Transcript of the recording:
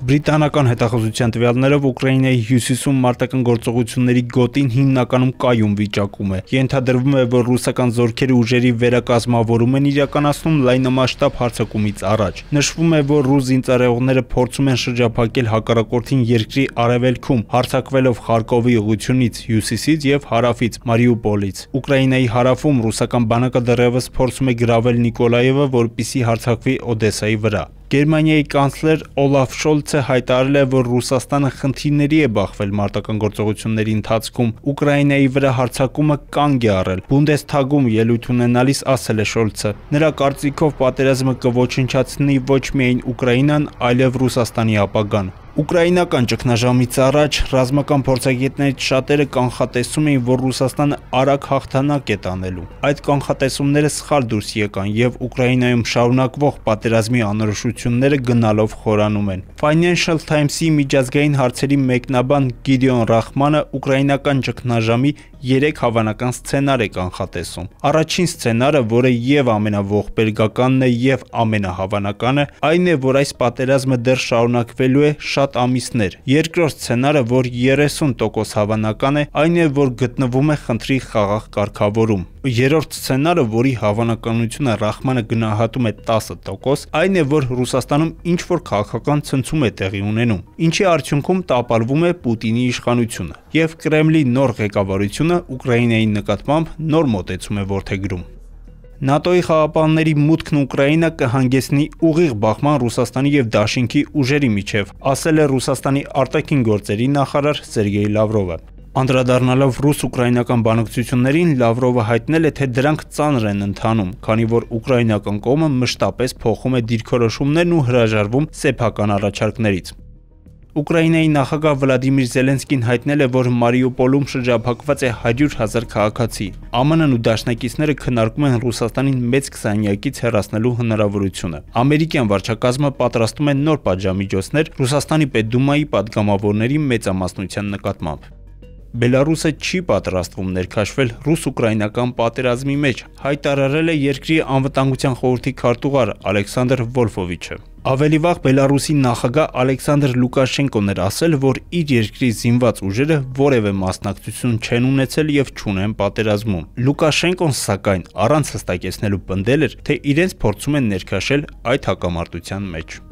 Բրիտանական հետախուզության տվյալներով Ուկրաինայի հյուսիսում մարտական գործողությունների գոտին հիմնականում կայուն վիճակում է։ Ենթադրվում է, որ ռուսական զորքերը ուժերի վերակազմավորում են իրականացնում լայնամասշտաբ հարձակումից առաջ։ Նշվում է, որ ռուս զինծառայողները փորձում են շրջափակել հակառակորդին երկրի արևելքում, հարձակվելով Խարկովի ուղղությունից, հյուսիսից եւ հարավից, Մարիուպոլից։ Ուկրաինայի հարավում ռուսական բանակը դեռևս փորձում է գրավել Նիկոլաևը, որպեսզի հարձակվի Օդեսայի վրա։ Գերմանիայի կանցլեր Օլաֆ Շոլցը հայտարարել է, որ Ռուսաստանը խնդիրների է բախվել մարտական գործողությունների ընթացքում։ Ուկրաինայի վրա հարձակումը կանգ է առել։ Բունդեսթագում ելույթ ունենալիս ասել է Շոլցը։ Նրա կարծիքով պատերազմը կոչնչացնի ոչ միայն Ուկրաինան, այլև Ռուսաստանի ապագան։ Ուկրաինական ճգնաժամից առաջ ռազմական փորձագետներից շատերը կանխատեսում էին, որ Ռուսաստանը արագ հաղթանակ է տանելու։ Այդ կանխատեսումները սխալ դուրս եկան եւ Ուկրաինայում շարունակվող պատերազմի անորոշությունները գնալով խորանում են։ Financial Times-ի միջազգային հարցերի մեկնաբան Գիդեոն Ռախմանը ուկրաինական ճգնաժամի 3 հավանական սցենար է կանխատեսում։ Առաջին սցենարը, որը եւ ամենաողբերգականն է եւ ամենահավանականը, այն է, որ այս պատերազմը դեռ շարունակվելու է շատ ամիսներ։ Երկրորդ սցենարը, որ 30% հավանական է, այն է, որ գտնվում է խնդրի խաղաղ կարգավորում։ Երրորդ սցենարը, որի հավանականությունը Ռախմանը գնահատում է 10%, այն է, որ Ռուսաստանում ինչ-որ քաղաքական ցնցում է տեղի ունենում, ինչի արդյունքում տապալվում է Պուտինի իշխանությունը, եւ Կրեմլի նոր ղեկավարությունը Ուկրաինայի նկատմամբ նոր մոտեցում է որդեգրում։ ՆԱՏՕ-ի խաղապանների մուտքն Ուկրաինա կհանգեցնի ուղիղ բախման Ռուսաստանի եւ Դաշինքի ուժերի միջև, ասել է Ռուսաստանի արտաքին գործերի նախարար Սերգեյ Լավրովը։ Անդրադառնալով ռուս-ուկրաինական բանակցություններին, Լավրովը հայտնել է, թե դրանք ծանր են ընթանում, քանի որ ուկրաինական կողմը մշտապես փոխում է դիրքորոշումներն ու հրաժարվում սեփական առաջարկներից։ Ուկրաինայի նախագահ Վլադիմիր Զելենսկին հայտնել է, որ Մարիուպոլում շրջափակված է 100,000 քաղաքացի։ ԱՄՆ-ն ու դաշնակիցները քննարկում են Ռուսաստանին մեծ քսանյակից հեռացնելու հնարավորությունը։ Ամերիկյան վարչակազմը պատրաստում է նոր պատժամիջոցներ Ռուսաստանի Պետդումայի պատգամավորների մեծամասնության նկատմամբ։ Բելարուսը չի պատրաստվում ներքաշվել ռուս-ուկրաինական պատերազմի մեջ, հայտարարել է երկրի անվտանգության խորհրդի քարտուղար Ալեքսանդր Վոլֆովիչը։ Ավելի վաղ Բելարուսի նախագահ Ալեքսանդր Լուկաշենկոն էր ասել, որ իր երկրի զինված ուժերը որևէ մասնակցություն չեն ունեցել եւ չունեն պատերազմում։ Լուկաշենկոն, սակայն, առանց հստակեցնելու պնդել էր, թե իրենց փորձում են ներքաշել այդ հակամարտության մեջ։